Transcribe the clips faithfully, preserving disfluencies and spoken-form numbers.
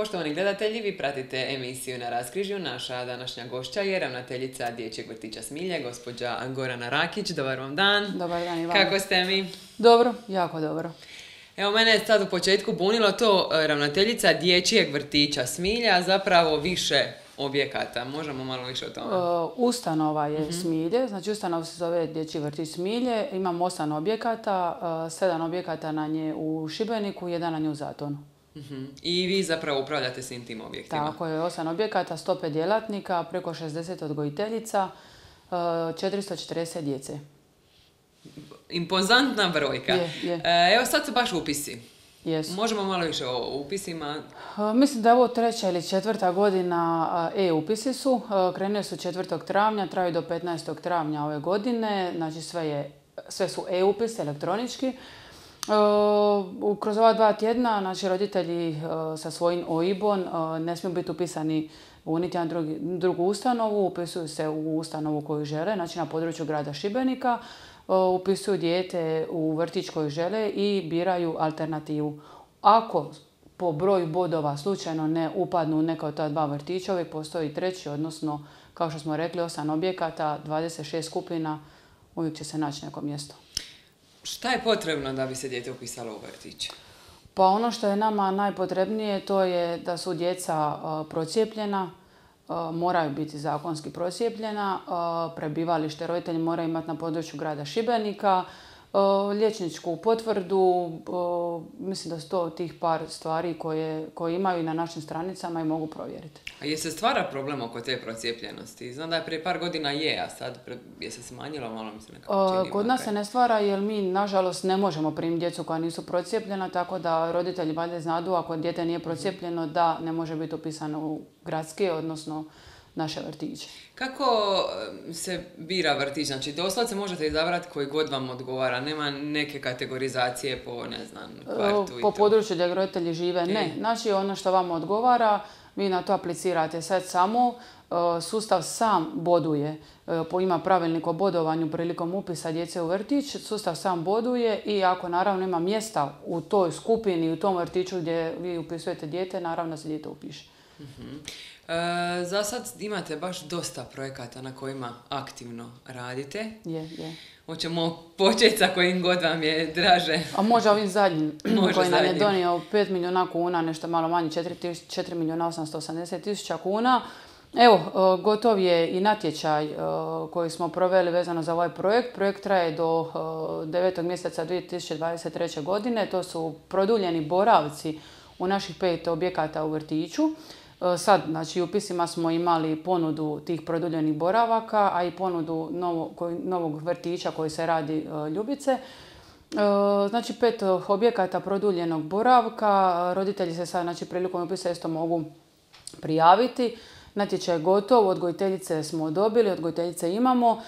Poštovani gledatelji, vi pratite emisiju Na raskrižju. Naša današnja gošća je ravnateljica Dječjeg vrtića Smilje, gospođa Gorana Rakić. Dobar vam dan. Dobar dan i vama. Kako ste mi? Dobro, jako dobro. Evo, mene je sad u početku bunilo to ravnateljica Dječjeg vrtića Smilje, a zapravo više objekata. Možemo malo više o tome? Uh, ustanova je uh-huh. Smilje, znači ustanova se zove Dječji vrtić Smilje. Imamo osam objekata, uh, sedam objekata na nje u Šibeniku, jedan na nje u Zatonu. Uh-huh. I vi zapravo upravljate svim tim objektima? Tako je, osam objekata, sto pet djelatnika, preko šezdeset odgojiteljica, uh, četiristo četrdeset djece. Impozantna brojka. Je, je. E, evo sad su baš upisi. Jesu. Možemo malo više o upisima? Uh, mislim da je ovo treća ili četvrta godina uh, e-upisi su. Uh, krenuli su četvrtog travnja, traju do petnaestog travnja ove godine. Znači sve, je, sve su e-upisi elektronički. Uh, kroz ova dva tjedna naši roditelji uh, sa svojim O I B-om uh, ne smiju biti upisani u niti jedan drugi, drugu ustanovu, upisuju se u ustanovu koju žele, znači na području grada Šibenika. Upisuju dijete u vrtić koji žele i biraju alternativu. Ako po broju bodova slučajno ne upadnu u neka od ta dva vrtića, uvijek postoji treći, odnosno, kao što smo rekli, osam objekata, dvadeset šest skupina, uvijek će se naći neko mjesto. Šta je potrebno da bi se dijete upisalo u vrtić? Pa ono što je nama najpotrebnije to je da su djeca uh, procijepljena, Uh, moraju biti zakonski procijepljena, uh, prebivalište roditelji moraju imati na području grada Šibenika, uh, liječničku potvrdu, uh, mislim da su to tih par stvari koje, koje imaju i na našim stranicama i mogu provjeriti. A je se stvara problem oko te procijepljenosti? Znam da je prije par godina je, a sad pre, je se smanjilo malo, mi se nekako čini. Uh, kod nas se ne stvara jer mi nažalost ne možemo primiti djecu koja nisu procijepljena, tako da roditelji valjda znadu ako dijete nije procijepljeno da ne može biti upisano u gradske, odnosno naše vrtiće. Kako se bira vrtić? Znači, doslovce možete izabrati koji god vam odgovara. Nema neke kategorizacije po, ne znam, kvartu i po to? području gdje roditelji žive, ne. Znači, ono što vam odgovara, vi na to aplicirate. Sad samo sustav sam boduje. Ima pravilnik o bodovanju prilikom upisa djece u vrtić. Sustav sam boduje i ako naravno ima mjesta u toj skupini, u tom vrtiću gdje vi upisujete dijete, naravno se dijete upiše. Uh-huh. E, za sad imate baš dosta projekata na kojima aktivno radite. Je, je. Hoćemo početi sa kojim god vam je draže. A može ovim zadnjim, može koji nam zadnjim. je donio pet milijuna kuna, nešto malo manje, četiri milijuna osamsto osamdeset tisuća kuna. Evo, gotov je i natječaj koji smo proveli vezano za ovaj projekt. Projekt traje do devetog mjeseca dvije tisuće dvadeset treće. godine. To su produljeni boravci u naših pet objekata u vrtiću. Sad, znači, u upisima smo imali ponudu tih produljenih boravaka, a i ponudu novo, koji, novog vrtića koji se radi uh, Ljubice. Uh, znači, pet objekata produljenog boravka. Roditelji se sad, znači, prilikom upisa isto mogu prijaviti. Natječaj je gotov, odgojiteljice smo dobili, odgojiteljice imamo,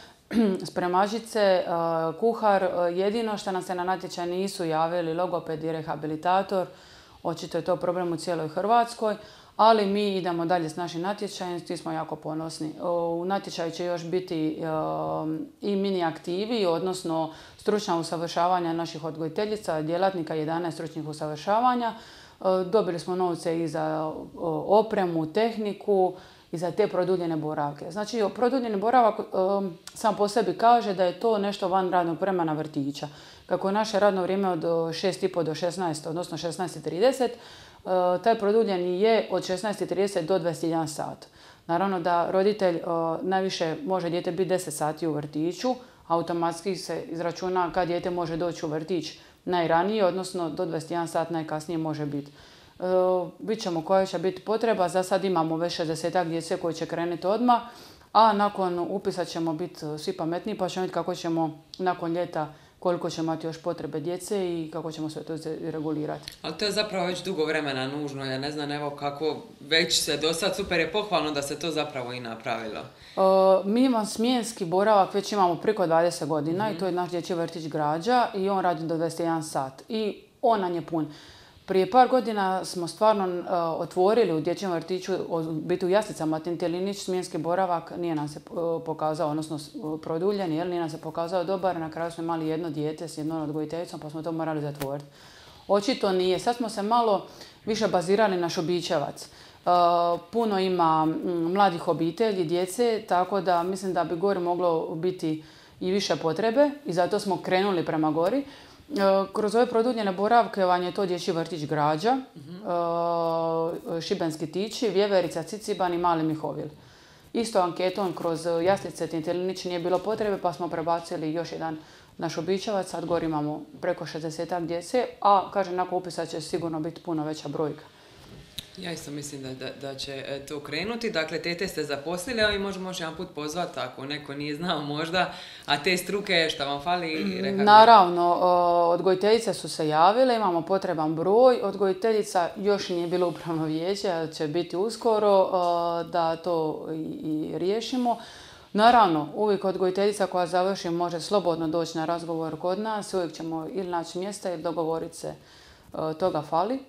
spremačice, uh, kuhar. Uh, jedino što nam se na natječaj nisu javili logoped i rehabilitator. Očito je to problem u cijeloj Hrvatskoj. Ali mi idemo dalje s našim natječajem, svi smo jako ponosni. U natječaju će još biti i mini aktivi, odnosno stručna usavršavanja naših odgojiteljica, djelatnika, jedanaest stručnih usavršavanja. Dobili smo novce i za opremu, tehniku i za te produljene boravke. Znači, produljeni boravak sam po sebi kaže da je to nešto van radnog vremena vrtića. Kako je naše radno vrijeme od šest i pol do šesnaest, odnosno šesnaest i trideset, taj produljeni je od šesnaest i trideset do dvadeset jedan sat. Naravno da roditelj najviše može dijete biti deset sati u vrtiću, automatski se izračuna kad dijete može doći u vrtić najranije, odnosno do dvadeset jedan sat najkasnije može biti. Vidjet ćemo koja će biti potreba, za sad imamo već šezdesetak djece koji će krenuti odmah, a nakon upisa ćemo biti svi pametniji pa ćemo vidjeti kako ćemo nakon ljeta koliko će imati još potrebe djece i kako ćemo sve to regulirati. Ali to je zapravo već dugo vremena nužno, ja ne znam evo kako već se do sad, super je pohvalno da se to zapravo i napravilo. Uh, mi imamo smjenski boravak, već imamo preko dvadeset godina mm-hmm. i to je naš dječji vrtić Građa i on radi do dvadeset jedan sat i on nam je pun. Prije par godina smo stvarno uh, otvorili u dječjem vrtiću, biti u Jaslicama, Tintelinić, smjenski boravak, nije nam se uh, pokazao, odnosno uh, produljen, jer nije nam se pokazao dobar. Na kraju smo imali jedno dijete s jednom odgojiteljicom, pa smo to morali zatvoriti. Očito nije. Sad smo se malo više bazirali na Šobićevac. Puno ima mladih obitelji, djece, tako da mislim da bi gori moglo biti i više potrebe i zato smo krenuli prema gori. Kroz ove produljene boravke vam je to dječji vrtić Građa, uh-huh. Šibenski Tići, Vjeverica, Ciciban i Mali Mihovil. Isto anketom kroz Jaslice, Tintelinić nije bilo potrebe pa smo prebacili još jedan na Šobićevac. Sad gori imamo preko šezdesetak djece, a kažem nakon upisa će sigurno biti puno veća brojka. Ja isto mislim da, da, da će to krenuti. Dakle, tete ste zaposlili, ali možemo još jedan put pozvati ako neko nije znao možda, a te struke šta vam fali? Naravno, odgojiteljice su se javile, imamo potreban broj. Odgojiteljica još nije bilo upravno vijeće, će biti uskoro da to i, i riješimo. Naravno, uvijek odgojiteljica koja završi može slobodno doći na razgovor kod nas, uvijek ćemo ili naći mjesta ili dogovoriti se, toga fali.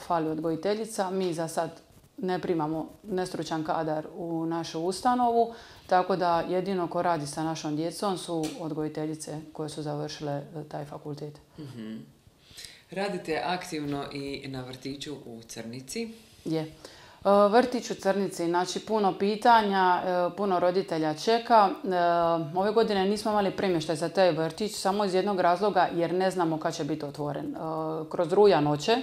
Fali odgojiteljica. Mi za sad ne primamo nestručan kadar u našu ustanovu, tako da jedino ko radi sa našom djecom su odgojiteljice koje su završile taj fakultet. Mm-hmm. Radite aktivno i na vrtiću u Crnici? Je. Vrtić u Crnici, znači puno pitanja, puno roditelja čeka. Ove godine nismo imali premještaj za taj vrtić samo iz jednog razloga jer ne znamo kad će biti otvoren. Kroz rujan hoće,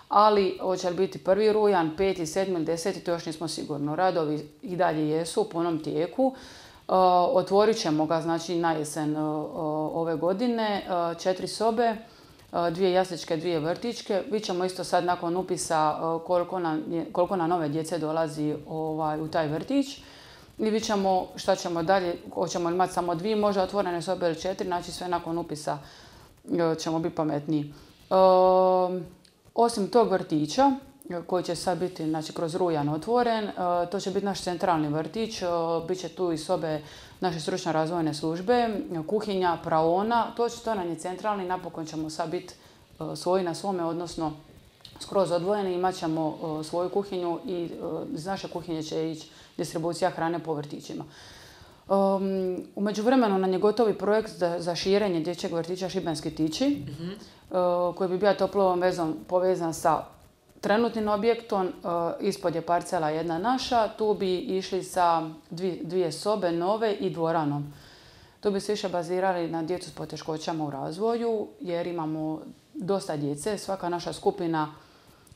ali hoće li biti prvi rujan, peti, sedmi ili deseti, to još nismo sigurno. Radovi i dalje jesu u punom tijeku. Otvorit ćemo ga znači na jesen ove godine, četiri sobe, dvije jasličke, dvije vrtićke. Vi ćemo isto sad nakon upisa koliko na, koliko na nove djece dolazi ovaj, u taj vrtić. I vidjet ćemo šta ćemo dalje, hoćemo imati samo dvije možda otvorene sobe ili četiri, znači sve nakon upisa ćemo biti pametniji. Osim tog vrtića, koji će sad biti znači, kroz rujan otvoren, to će biti naš centralni vrtić, bit će tu i sobe naše stručno razvojne službe, kuhinja, praona, to, će, to nam je centralni, napokon ćemo sad biti svoji na svome, odnosno skroz odvojeni, imat ćemo svoju kuhinju i iz naše kuhinje će ići distribucija hrane po vrtićima. Um, u međuvremenu nam je gotovi projekt za, za širenje dječjeg vrtića Šibenski Tići, mm-hmm. uh, koji bi bio toplom vezom povezan sa trenutnim objektom. Uh, ispod je parcela jedna naša, tu bi išli sa dvije, dvije sobe nove i dvoranom. Tu bi se više bazirali na djecu s poteškoćama u razvoju, jer imamo dosta djece, svaka naša skupina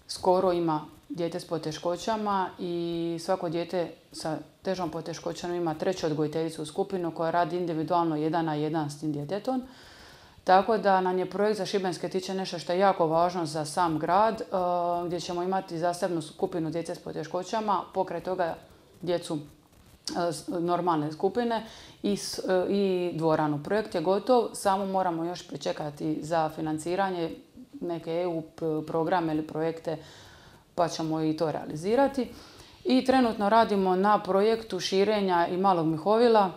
skoro ima dijete s poteškoćama i svako dijete sa težom poteškoćom ima treću odgojiteljicu u skupinu koja radi individualno jedan na jedan s tim djetetom. Tako da nam je projekt za Šibenske Tiće nešto što je jako važno za sam grad, gdje ćemo imati zasebnu skupinu djece s poteškoćama, pokraj toga djecu normalne skupine i, i dvoranu. Projekt je gotov, samo moramo još pričekati za financiranje neke E U programe ili projekte, pa ćemo i to realizirati. I trenutno radimo na projektu širenja i Malog Mihovila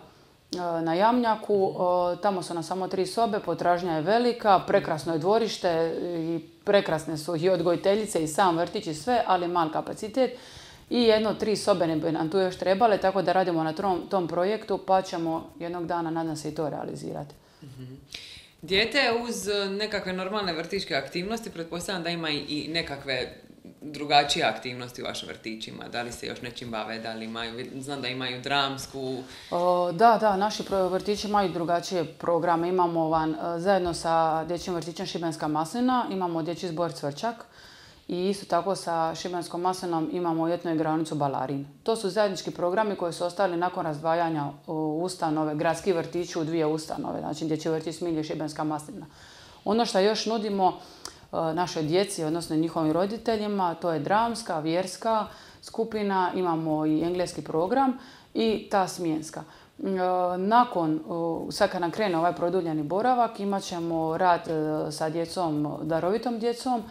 na Jamnjaku. Tamo su nam samo tri sobe, potražnja je velika, prekrasno je dvorište i prekrasne su i odgojiteljice i sam vrtić i sve, ali mal kapacitet. I jedno, tri sobe ne bi nam tu još trebale, tako da radimo na tom, tom projektu, pa ćemo jednog dana, nadam se, i to realizirati. Mm-hmm. Dijete uz nekakve normalne vrtićke aktivnosti, pretpostavljam da ima i nekakve drugačije aktivnosti u vašim vrtićima. Da li se još nečim bave, da li imaju, znam da imaju dramsku... O, da, da, naši vrtići imaju drugačije programe. Imamo van, zajedno sa dječjim vrtićem Šibenska maslina, imamo dječji zbor Cvrčak i isto tako sa Šibenskom maslinom imamo ljetnu igraonicu Balarin. To su zajednički programi koji su ostali nakon razdvajanja ustanove, gradski vrtići u dvije ustanove, znači dječji vrtić Smilje i Šibenska maslina. Ono što još nudimo našoj djeci, odnosno njihovim roditeljima, to je dramska, vjerska skupina, imamo i engleski program i ta smjenska. Nakon, sad kad nam krene ovaj produljeni boravak, imat ćemo rad sa djecom, darovitom djecom,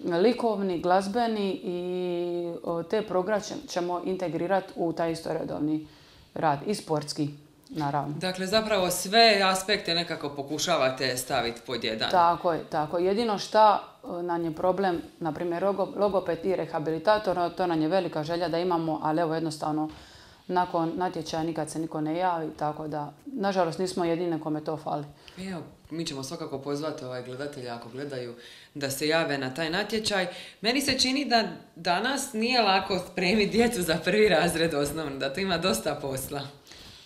likovni, glazbeni i te programe ćemo integrirati u taj isto redovni rad i sportski. Naravno. Dakle, zapravo sve aspekte nekako pokušavate staviti pod jedan. Tako je, tako. Jedino šta nam je problem, na primjer, logoped i rehabilitator, to nam je velika želja da imamo, ali evo jednostavno nakon natječaja nikad se niko ne javi, tako da, nažalost, nismo jedine kome to fali. Evo, mi ćemo svakako pozvati ovaj gledatelja ako gledaju da se jave na taj natječaj. Meni se čini da danas nije lako spremiti djecu za prvi razred osnovno, da to ima dosta posla.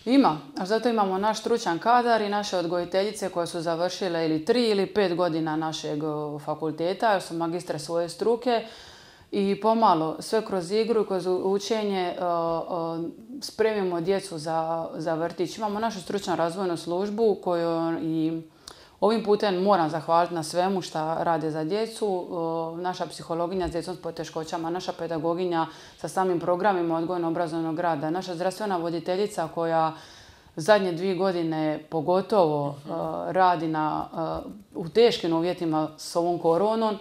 Ima, a zato imamo naš stručan kadar i naše odgojiteljice koje su završile ili tri ili pet godina našeg fakulteta, jer su magistre svoje struke i pomalo sve kroz igru i kroz učenje spremimo djecu za, za vrtić. Imamo našu stručnu razvojnu službu koju i ovim putem moram zahvaliti na svemu što rade za djecu. Naša psihologinja s djecom s poteškoćama, naša pedagoginja sa samim programima odgojno-obrazovnog rada, naša zdravstvena voditeljica koja zadnje dvije godine pogotovo uh, radi na, uh, u teškim uvjetima s ovom koronom.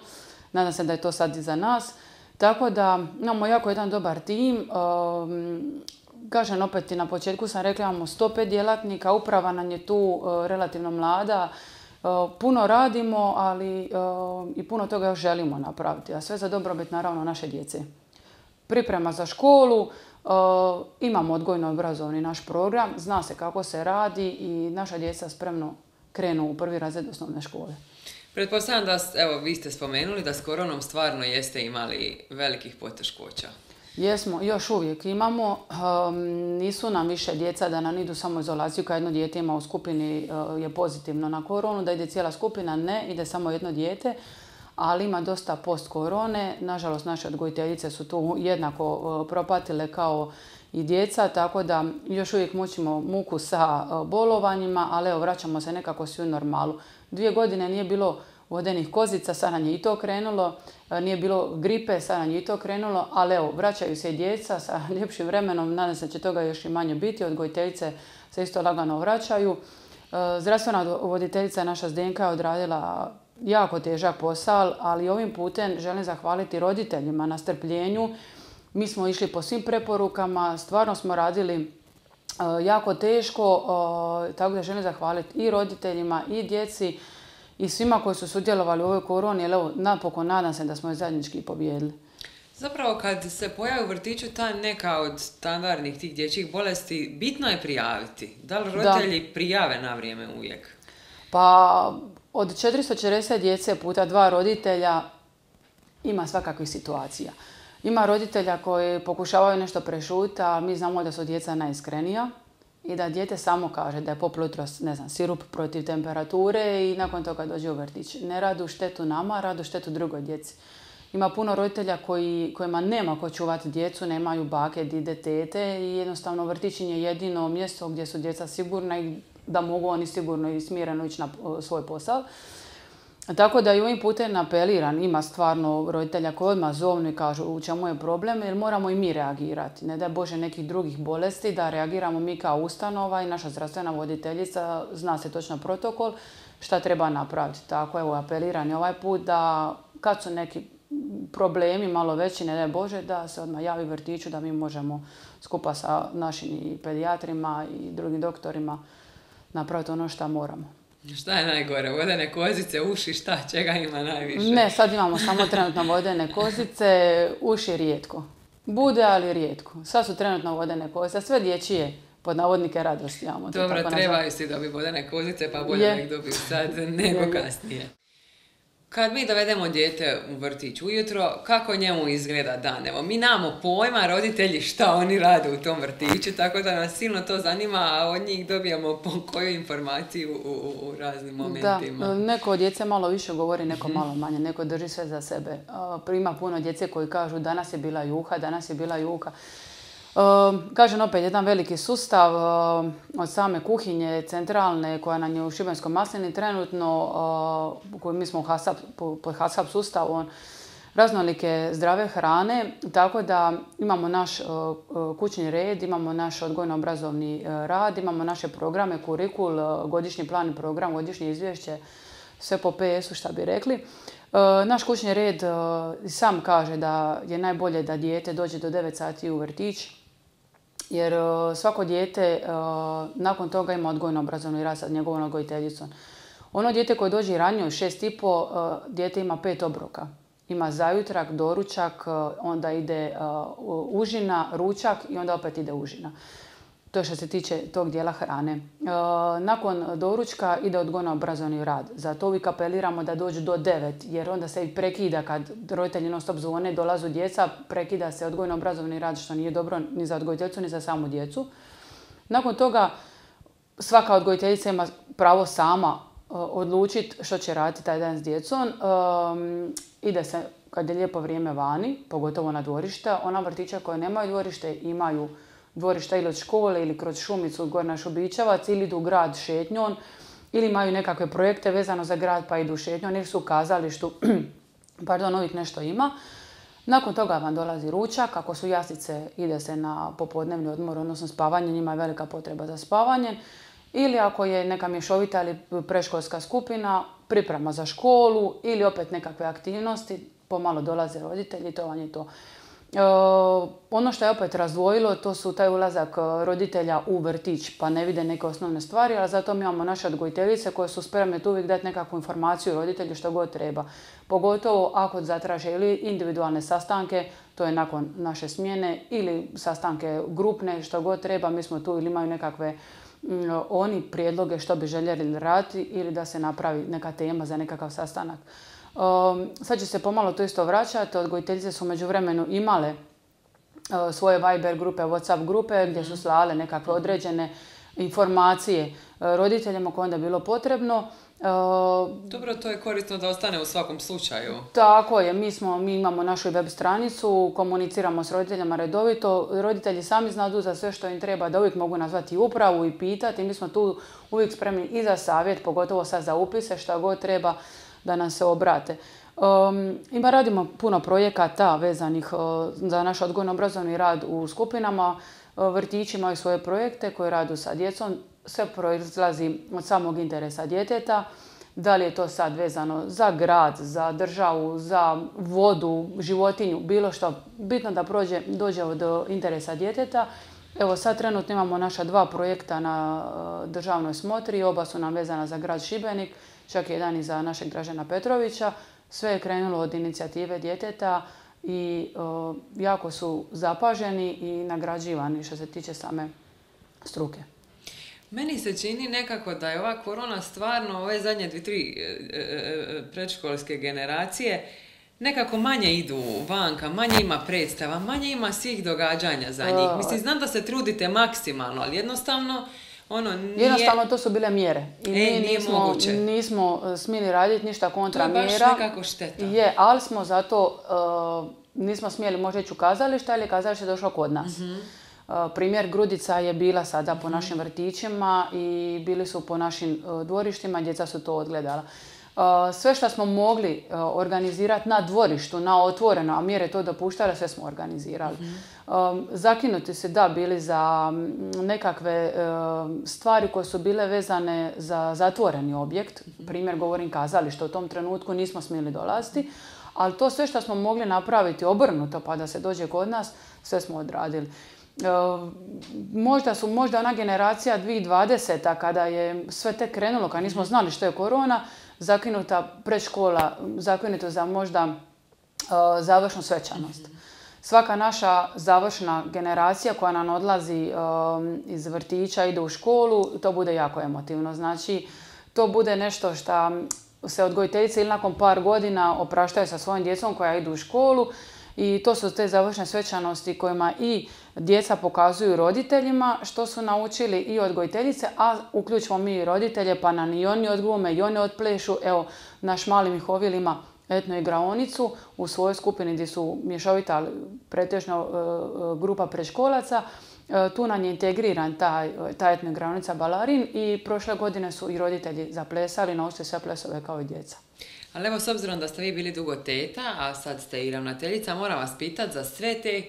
Nadam se da je to sad i za nas. Tako da imamo jako jedan dobar tim. Um, kažem opet i na početku sam rekla imamo sto pet djelatnika, uprava nam je tu uh, relativno mlada. Puno radimo, ali i puno toga još želimo napraviti, a sve za dobrobit naravno naše djece. Priprema za školu, imamo odgojno-obrazovni naš program, zna se kako se radi i naša djeca spremno krenu u prvi razred osnovne škole. Pretpostavljam da, evo, vi ste spomenuli da s koronom stvarno jeste imali velikih poteškoća. Jesmo, još uvijek imamo. Um, nisu nam više djeca da nam idu samo izolaciju, kad jedno dijete ima u skupini uh, je pozitivno na koronu, da ide cijela skupina, ne, ide samo jedno dijete, ali ima dosta post-korone. Nažalost, naše odgojiteljice su tu jednako uh, propatile kao i djeca, tako da još uvijek mučimo muku sa uh, bolovanjima, ali evo, vraćamo se nekako svi u normalu. Dvije godine nije bilo vodenih kozica, sad nam je i to krenulo, nije bilo gripe, sad nam je i to krenulo, ali evo, vraćaju se i djeca sa ljepšim vremenom, nadam se da će toga još i manje biti, odgojiteljice se isto lagano vraćaju. Zdravstvena voditeljica naša Zdenka je odradila jako težak posao, ali ovim putem želim zahvaliti roditeljima na strpljenju. Mi smo išli po svim preporukama, stvarno smo radili jako teško, tako da želim zahvaliti i roditeljima i djeci, i svima koji su sudjelovali u ovoj koroni, jer evo, napokon nadam se da smo je zajednički pobijedili. Zapravo, kad se pojavi u vrtiću ta neka od standardnih tih dječjih bolesti, bitno je prijaviti. Da li roditelji da. prijave na vrijeme uvijek? Pa, od četiristo četrdeset djece puta dva roditelja ima svakakvih situacija. Ima roditelja koji pokušavaju nešto prešuti, a mi znamo da su djeca najiskrenija. I da dijete samo kaže da je popilo jutros, ne znam, sirup protiv temperature i nakon toga dođe u vrtić. Ne radu štetu nama, radu štetu drugoj djeci. Ima puno roditelja koji, kojima nema ko čuvati djecu, nemaju bake, dide, tete i jednostavno vrtić je jedino mjesto gdje su djeca sigurna i da mogu oni sigurno i smireno ići na svoj posao. Tako da i ovim putem apeliram, ima stvarno roditelja koji odmah zovnu i kažu u čemu je problem, jer moramo i mi reagirati. Ne daj Bože nekih drugih bolesti, da reagiramo mi kao ustanova i naša zdravstvena voditeljica, zna se točno protokol šta treba napraviti. Tako evo, apeliram i ovaj put da kad su neki problemi malo veći, ne daj Bože, da se odmah javi vrtiću da mi možemo skupa sa našim i pedijatrima i drugim doktorima napraviti ono što moramo. Šta je najgore? Vodene kozice, uši, šta? Čega ima najviše? Ne, sad imamo samo trenutno vodene kozice, uši rijetko. Bude, ali rijetko. Sad su trenutno vodene kozice, sve dječije pod navodnike radosti imamo. Dobro, trebaju si dobiti vodene kozice, pa bolje nek dobiju sad nego je, kasnije. Kad mi dovedemo dijete u vrtić ujutro, kako njemu izgleda dan? Evo, mi nemamo pojma, roditelji, šta oni rade u tom vrtiću, tako da nas silno to zanima, a od njih dobijamo po koju informaciju u, u, u raznim momentima. Da, neko od djece malo više govori, neko malo manje, neko drži sve za sebe. Ima puno djece koji kažu danas je bila juha, danas je bila juha. Kažem opet, jedan veliki sustav od same kuhinje centralne koja nam je u Šibenskom maslini trenutno, koju mi smo pod HASAP sustavom, raznolike zdrave hrane, tako da imamo naš kućni red, imamo naš odgojno-obrazovni rad, imamo naše programe, kurikul, godišnji plan i program, godišnje izvješće, sve po P S-u šta bi rekli. Naš kućni red sam kaže da je najbolje da dijete dođe do devet sati u vrtić, jer svako dijete nakon toga ima odgojno-obrazovni rad sa njegovom odgojiteljicom. Ono dijete koje dođe ranije u šest i po, dijete ima pet obroka. Ima zajutrak, doručak, onda ide užina, ručak i onda opet ide užina. To je što se tiče tog dijela hrane. Nakon doručka ide odgojno-obrazovni rad. Zato uvijek apeliramo da dođu do devet, jer onda se i prekida kad roditelji non stop zvone, dolazu djeca, prekida se odgojno-obrazovni rad, što nije dobro ni za odgojiteljicu ni za samu djecu. Nakon toga svaka odgojiteljica ima pravo sama odlučiti što će raditi taj dan s djecom. Um, ide se kad je lijepo vrijeme vani, pogotovo na dvorišta. Ona vrtića koje nemaju dvorište imaju dvorišta ili od škole ili kroz šumicu gore na Šubićevac ili idu u grad šetnjom ili imaju nekakve projekte vezano za grad pa idu šetnjom ili su u kazalištu, pardon, ovih nešto ima. Nakon toga vam dolazi ručak, ako su jaslice ide se na popodnevni odmor, odnosno spavanje, njima je velika potreba za spavanje. Ili ako je neka mješovita ili predškolska skupina, priprema za školu ili opet nekakve aktivnosti, pomalo dolaze roditelji, to vam je to. E, ono što je opet razdvojilo, to su taj ulazak roditelja u vrtić, pa ne vide neke osnovne stvari, ali zato mi imamo naše odgojiteljice koje su spremne tu uvijek dati nekakvu informaciju roditelju što god treba. Pogotovo ako zatraže ili individualne sastanke, to je nakon naše smjene, ili sastanke grupne, što god treba, mi smo tu ili imaju nekakve oni prijedloge što bi željeli raditi ili da se napravi neka tema za nekakav sastanak. Um, sad će se pomalo to isto vraćati. Odgojiteljice su u međuvremenu imale uh, svoje Viber grupe, WhatsApp grupe gdje su slale nekakve određene informacije uh, roditeljima koje onda je bilo potrebno. Uh, Dobro, to je korisno da ostane u svakom slučaju. Tako je, mi, smo, mi imamo našu web stranicu, komuniciramo s roditeljima redovito. Roditelji sami znadu za sve što im treba, da uvijek mogu nazvati upravu i pitati. Mi smo tu uvijek spremni i za savjet, pogotovo sad za upise, šta god treba da nam se obrate. Um, ima radimo puno projekata vezanih uh, za naš odgojno-obrazovni rad u skupinama. Uh, vrtići imaju svoje projekte koje radu sa djecom. Sve proizlazi od samog interesa djeteta. Da li je to sad vezano za grad, za državu, za vodu, životinju, bilo što. Bitno da prođe, dođe od interesa djeteta. Evo sad trenutno imamo naša dva projekta na državnoj smotri. Oba su nam vezana za grad Šibenik, čak jedan i za našeg Dražena Petrovića. Sve je krenulo od inicijative djeteta i o, jako su zapaženi i nagrađivani što se tiče same struke. Meni se čini nekako da je ova korona stvarno, ove zadnje dvije, tri predškolske generacije, nekako manje idu vanka, manje ima predstava, manje ima svih događanja za njih. Mislim, znam da se trudite maksimalno, ali jednostavno ono nije... Jednostavno to su bile mjere. I mi e, nije nismo, moguće. nismo smjeli raditi ništa kontra mjera. To je baš nekako šteta. Je, ali smo zato, uh, nismo smjeli možda ići u kazalište, ali je kazalište došlo kod nas. Mm-hmm. Uh, primjer Grudica je bila sada po našim vrtićima i bili su po našim uh, dvorištima, djeca su to odgledala. Uh, sve što smo mogli uh, organizirati na dvorištu, na otvoreno, a mjere to dopuštale, sve smo organizirali. Mm-hmm. Um, zakinuti su da bili za nekakve uh, stvari koje su bile vezane za zatvoreni objekt. Mm-hmm. Primjer govorim kazalište, u tom trenutku nismo smjeli dolaziti, ali to sve što smo mogli napraviti obrnuto pa da se dođe kod nas, sve smo odradili. Uh, možda su, možda ona generacija dvije tisuće dvadeseta kada je sve tek krenulo, kad nismo znali što je korona, zakinuta predškola, zakinuta za možda uh, završnu svečanost. Mm-hmm. Svaka naša završna generacija koja nam odlazi um, iz vrtića, ide u školu, to bude jako emotivno. Znači, to bude nešto što se odgojiteljice ili nakon par godina opraštaju sa svojim djecom koja idu u školu. I to su te završne svečanosti kojima i djeca pokazuju roditeljima što su naučili i odgojiteljice, a uključimo mi i roditelje pa nam i oni odglume i oni odplešu. Evo, naš mali Mihovil ima etno igraonicu u svojoj skupini gdje su mješovita pretežno uh, grupa predškolaca. Uh, tu nam je integriran taj, ta etno igraonica Balarin i prošle godine su i roditelji zaplesali, naučili sve plesove kao i djeca. Ali evo, s obzirom da ste vi bili dugo teta, a sad ste i ravnateljica, moram vas pitati za sve te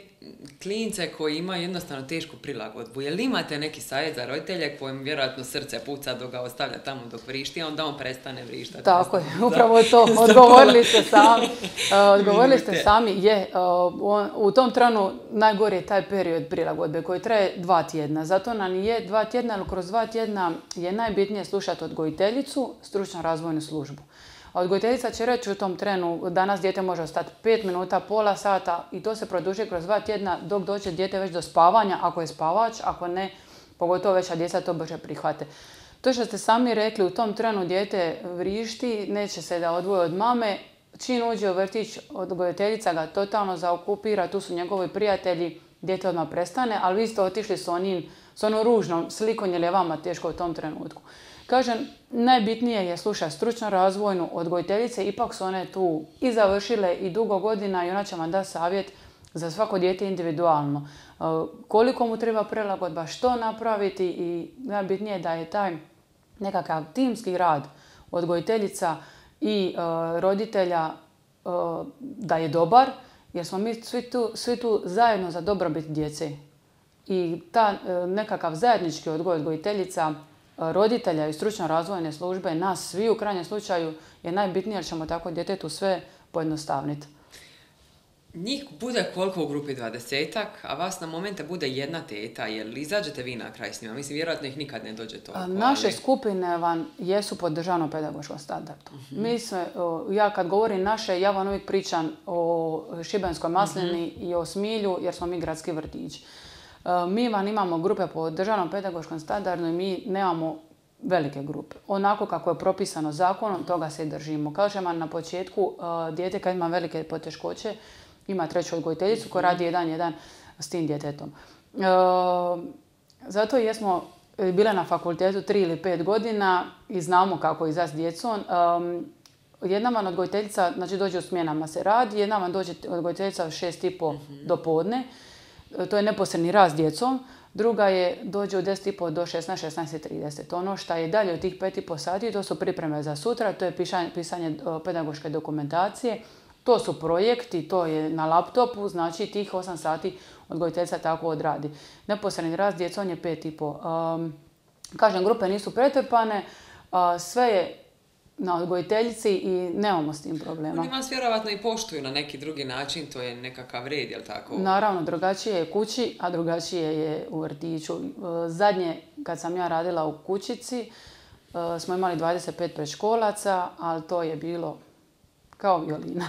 klince koji imaju jednostavno tešku prilagodbu. Je li imate neki savjet za roditelje kojem vjerojatno srce puca dok ga ostavlja tamo dok vrišti, a onda on prestane vrištati? Tako je, upravo to. Odgovorili ste sami. Uh, odgovorili ste sami. Je, uh, u tom trenu najgori je taj period prilagodbe koji traje dva tjedna. Zato nam je dva tjedna, ali kroz dva tjedna je najbitnije slušati odgojiteljicu, stručno razvojnu službu. A odgojiteljica će reći u tom trenu, danas dijete može ostati pet minuta, pola sata i to se produži kroz dva tjedna dok dođe dijete već do spavanja, ako je spavač, ako ne, pogotovo veća djeca to brže prihvate. To što ste sami rekli, u tom trenu dijete vrišti, neće se da odvoje od mame, čim uđe u vrtić, odgojiteljica ga totalno zaokupira, tu su njegovi prijatelji, dijete odmah prestane, ali vi ste otišli s onim, s onom ružnom slikom jer je vama teško u tom trenutku. Kažem, najbitnije je slušati stručno razvojnu odgojiteljice, ipak su one tu i završile i dugo godina i ona će vam dati savjet za svako dijete individualno. Koliko mu treba prilagodba, što napraviti i najbitnije je da je taj nekakav timski rad odgojiteljica i uh, roditelja uh, da je dobar, jer smo mi svi tu, svi tu zajedno za dobrobit djece. I ta uh, nekakav zajednički odgoj odgojiteljica, uh, roditelja i stručno razvojne službe, nas svi u krajnjem slučaju je najbitnije jer ćemo tako djetetu sve pojednostavniti. Njih bude koliko u grupi dvadesetak, a vas na momente bude jedna teta, jer izađete vi na kraj s njima? Mislim, vjerojatno ih nikad ne dođe toliko. Naše ali... skupine vam jesu pod državnom pedagoškom standardu. Uh-huh. Mi smo, ja kad govorim naše, ja vam uvijek pričam o Šibenskoj maslini uh-huh. i o Smilju, jer smo mi gradski vrtić. Mi vam imamo grupe pod državnom pedagoškom standardu i mi nemamo velike grupe. Onako kako je propisano zakonom, toga se i držimo. Kažem vam na početku, dijete kad ima velike poteškoće, ima treću odgojiteljicu koja radi jedan jedan s tim djetetom. E, zato jesmo bile na fakultetu tri ili pet godina i znamo kako izaći s djecom. E, jedna vam odgojiteljica, znači dođe u smjenama se radi, jedna vam dođe odgojiteljica u šest i po do podne. E, to je neposredni rad s djecom. Druga je dođe u deset i po do šesnaest, šesnaest i trideset. Ono što je dalje od tih pet i po sati, to su pripreme za sutra, to je pisanje, pisanje pedagoške dokumentacije. To su projekti, to je na laptopu, znači tih osam sati odgojiteljica tako odradi. Neposredni rad s djecom je pet i po. Um, kažem, grupe nisu pretrpane, uh, sve je na odgojiteljici i nemamo s tim problema. Oni vas vjerovatno i poštuju na neki drugi način, to je nekakav red, jel tako? Naravno, drugačije je kući, a drugačije je u vrtiću. Uh, zadnje, kad sam ja radila u kućici, uh, smo imali dvadeset pet predškolaca, ali to je bilo kao violina.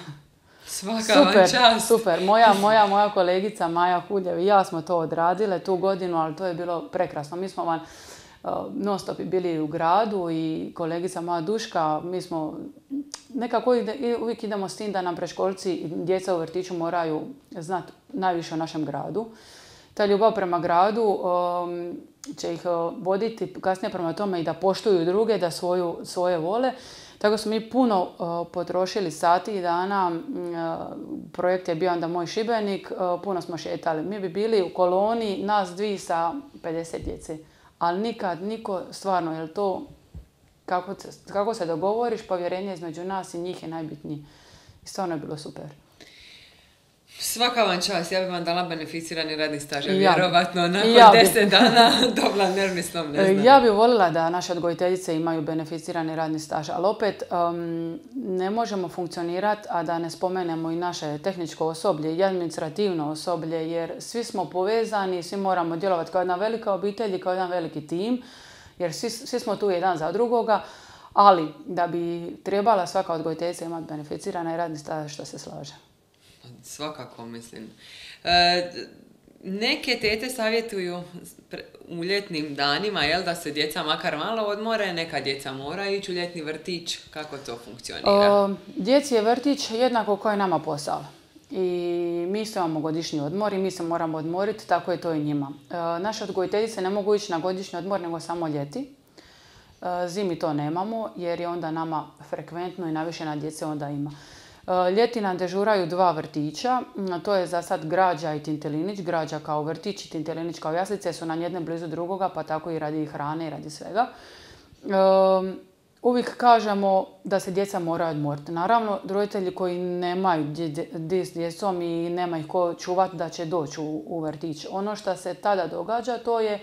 Svaka super, vam čast. Super. Moja, moja, moja kolegica Maja Huljev i ja smo to odradile tu godinu, ali to je bilo prekrasno. Mi smo van uh, non stop bili u gradu i kolegica moja Duška, mi smo nekako ide, uvijek idemo s tim da nam predškolci i djeca u vrtiću moraju znati najviše o našem gradu. Ta ljubav prema gradu um, će ih voditi kasnije prema tome i da poštuju druge, da svoju, svoje vole. Tako smo mi puno uh, potrošili sati i dana, uh, projekt je bio onda Moj Šibenik, uh, puno smo šetali. Mi bi bili u koloni, nas dvi sa pedeset djece, ali nikad niko, stvarno, je to, kako, kako se dogovoriš, povjerenje između nas i njih je najbitnije. I stvarno je bilo super. Svaka vam čast, ja bih vam dala beneficirani radni staž, ja, vjerovatno nakon ja deset dana dobila nervni slom, ne znam. Ja bih voljela da naše odgojiteljice imaju beneficirani radni staž, ali opet um, ne možemo funkcionirati, a da ne spomenemo i naše tehničko osoblje i administrativno osoblje, jer svi smo povezani, svi moramo djelovati kao jedna velika obitelj i kao jedan veliki tim, jer svi, svi smo tu jedan za drugoga, ali da bi trebala svaka odgojiteljica imati beneficirani radni staž, što se slaže. Svakako, mislim. E, neke tete savjetuju u ljetnim danima, jel, da se djeca makar malo odmore, neka djeca mora ići u ljetni vrtić. Kako to funkcionira? O, djeci je vrtić jednako kao i nama posao. I mi se imamo godišnji odmor i mi se moramo odmoriti, tako je to i njima. E, naše odgojiteljice ne mogu ići na godišnji odmor, nego samo ljeti. E, zimi to nemamo, jer je onda nama frekventno i najviše na djece onda ima. Ljeti nam dežuraju dva vrtića, to je za sad Građa i Tintelinić. Građa kao vrtić i Tintelinić kao jaslice su nam jedne blizu drugoga, pa tako i radi hrane i radi svega. Um, uvijek kažemo da se djeca moraju odmoriti. Naravno, roditelji koji nemaju dje s djecom i nema ih ko čuvati da će doći u, u vrtić. Ono što se tada događa to je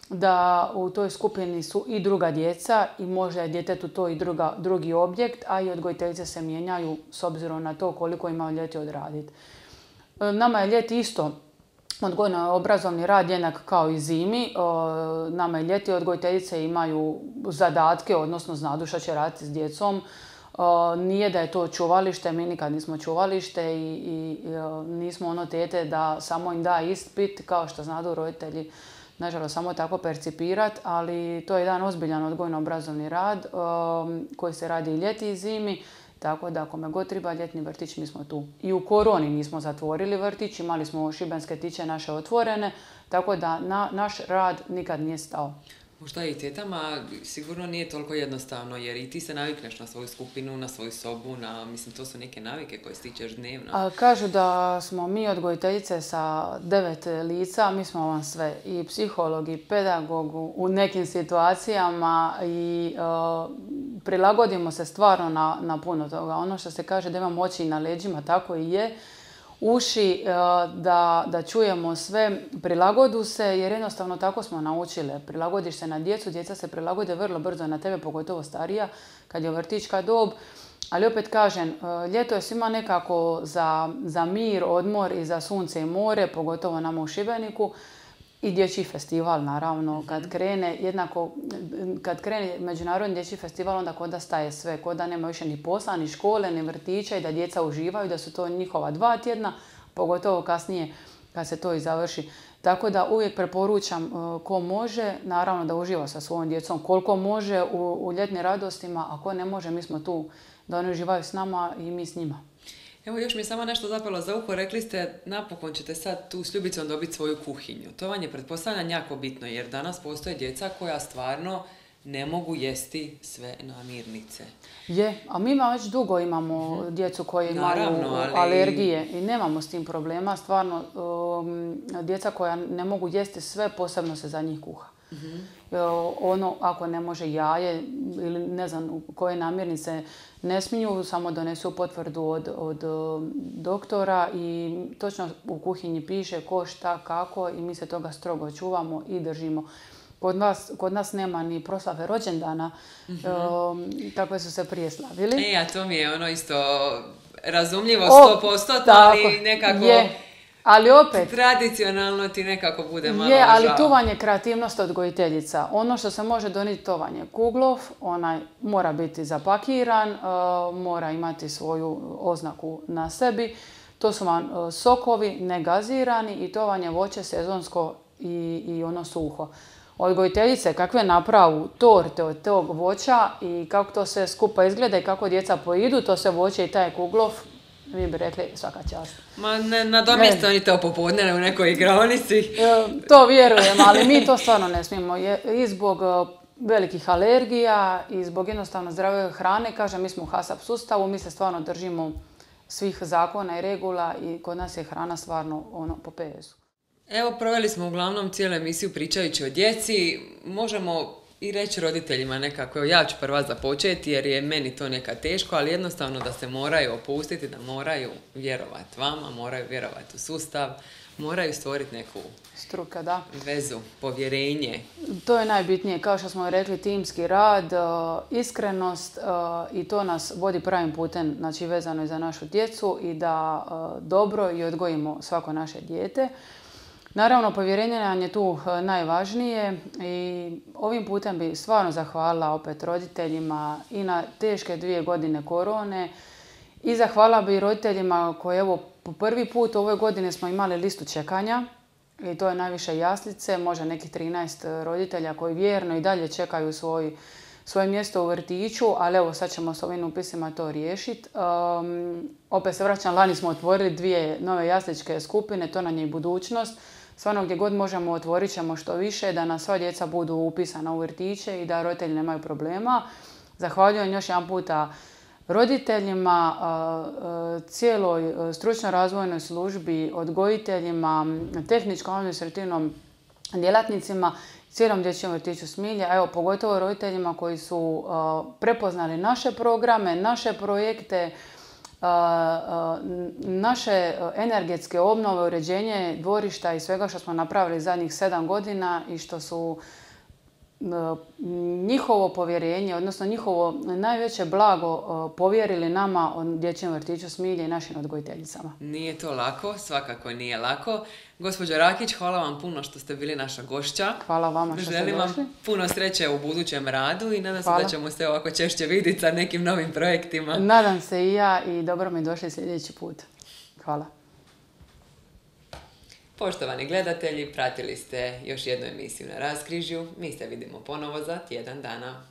da u toj skupini su i druga djeca i možda je djetetu to i druga, drugi objekt, a i odgojiteljice se mijenjaju s obzirom na to koliko ima ljeti odraditi. Nama je ljeti isto odgojno-obrazovni rad jednak kao i zimi. Nama je ljeti odgojiteljice imaju zadatke, odnosno znadu što će raditi s djecom. Nije da je to čuvalište, mi nikad nismo čuvalište i, i nismo ono tete da samo im da ispit, kao što znadu roditelji, nažalost, samo tako percipirati, ali to je jedan ozbiljan odgojno-obrazovni rad koji se radi i ljeti i zimi. Tako da ako me god treba ljetni vrtić, mi smo tu. I u koroni nismo zatvorili vrtić, imali smo šibenske tiče naše otvorene, tako da na, naš rad nikad nije stao. Možda i tetama sigurno nije toliko jednostavno, jer i ti se navikneš na svoju skupinu, na svoju sobu, na, mislim, to su neke navike koje stičeš dnevno. A, kažu da smo mi odgojiteljice sa devet lica, mi smo vam sve, i psiholog, i pedagog u nekim situacijama i uh, prilagodimo se stvarno na, na puno toga. Ono što se kaže da imamo oči na leđima, tako i je. Uši, da, da čujemo sve, prilagodu se, jer jednostavno tako smo naučile. Prilagodiš se na djecu, djeca se prilagode vrlo brzo na tebe, pogotovo starija, kad je vrtićka dob. Ali opet kažem, ljeto je svima nekako za, za mir, odmor i za sunce i more, pogotovo nama u Šibeniku. I dječji festival, naravno, kad krene, jednako, kad krene Međunarodni dječji festival, onda kod da staje sve, kod da nema više ni posla, ni škole, ni vrtića i da djeca uživaju, da su to njihova dva tjedna, pogotovo kasnije kad se to i završi. Tako da uvijek preporučam ko može, naravno da uživa sa svojom djecom, koliko može u, u ljetnim radostima, a ko ne može, mi smo tu da oni uživaju s nama i mi s njima. Evo, još mi je samo nešto zapelo za uho. Rekli ste, napokon ćete sad tu s Ljubicom dobiti svoju kuhinju. To vam je, pretpostavljam, jako bitno, jer danas postoje djeca koja stvarno ne mogu jesti sve namirnice. Je, a mi već dugo imamo mm-hmm. djecu koji imaju Naravno, ali... alergije i nemamo s tim problema. Stvarno, um, djeca koja ne mogu jesti sve, posebno se za njih kuha. Mm-hmm. Ono, ako ne može jaje ili ne znam koje namirnice ne smiju, samo donesu potvrdu od, od doktora i točno u kuhinji piše ko, šta, kako i mi se toga strogo čuvamo i držimo. Kod nas, kod nas nema ni proslave rođendana, mm-hmm. um, takve su se prije slavili. E, a to mi je ono isto razumljivo sto posto, ali nekako... Je. Ali opet... Tradicionalno ti nekako bude malo je, ali žao. tu vam je kreativnost odgojiteljica. Ono što se može donijeti, to vam je kuglov, onaj mora biti zapakiran, uh, mora imati svoju oznaku na sebi. To su vam uh, sokovi, negazirani i to vam je voće sezonsko i, i ono suho. Odgojiteljice kakve napravu torte od tog voća i kako to sve skupa izgleda i kako djeca pojidu, to sve voće i taj kuglov, vi bi rekli svaka čast. Ma ne, nadomjesto oni to popodne u nekoj igraonici. E, to vjerujem, ali mi to stvarno ne smijemo. Je, I zbog velikih alergija i zbog jednostavno zdrave hrane, kažem, mi smo u HASAP sustavu, mi se stvarno držimo svih zakona i regula i kod nas je hrana stvarno ono po P S-u. Evo, proveli smo uglavnom cijelu emisiju pričajući o djeci. Možemo i reći roditeljima nekako, ja ću prva započeti jer je meni to nekad teško, ali jednostavno da se moraju opustiti, da moraju vjerovati vama, moraju vjerovati u sustav, moraju stvoriti neku struka, da. vezu, povjerenje. To je najbitnije, kao što smo rekli, timski rad, iskrenost i to nas vodi pravim putem, znači vezano je za našu djecu i da dobro i odgojimo svako naše dijete. Naravno, povjerenje nam je tu najvažnije i ovim putem bi stvarno zahvalila opet roditeljima i na teške dvije godine korone i zahvalila bi roditeljima koji evo po prvi put u ovoj godini smo imali listu čekanja i to je najviše jaslice, možda nekih trinaest roditelja koji vjerno i dalje čekaju svoj, svoje mjesto u vrtiću, ali evo sad ćemo s ovim upisima to riješiti. Um, opet se vraćam, lani smo otvorili dvije nove jasličke skupine, to nam je i budućnost. Stvarno gdje god možemo otvorit ćemo što više, da nam sva djeca budu upisana u vrtiće i da roditelji nemaju problema. Zahvaljujem još jedan puta roditeljima, cijeloj stručno razvojnoj službi, odgojiteljima, tehničkom administrativnom djelatnicima, cijelom dječjem vrtiću Smilja, evo pogotovo roditeljima koji su prepoznali naše programe, naše projekte, naše energetske obnove, uređenje dvorišta i svega što smo napravili zadnjih sedam godina i što su njihovo povjerenje, odnosno njihovo najveće blago povjerili nama o dječjem vrtiću Smilje i našim odgojiteljicama. Nije to lako, svakako nije lako. Gospođo Rakić, hvala vam puno što ste bili naša gošća. Hvala vama što ste došli. Želim vam puno sreće u budućem radu i nadam se da ćemo se ovako češće vidjeti sa nekim novim projektima. Nadam se i ja i dobro mi došli sljedeći put. Hvala. Poštovani gledatelji, pratili ste još jednu emisiju na Raskrižju. Mi se vidimo ponovo za tjedan dana.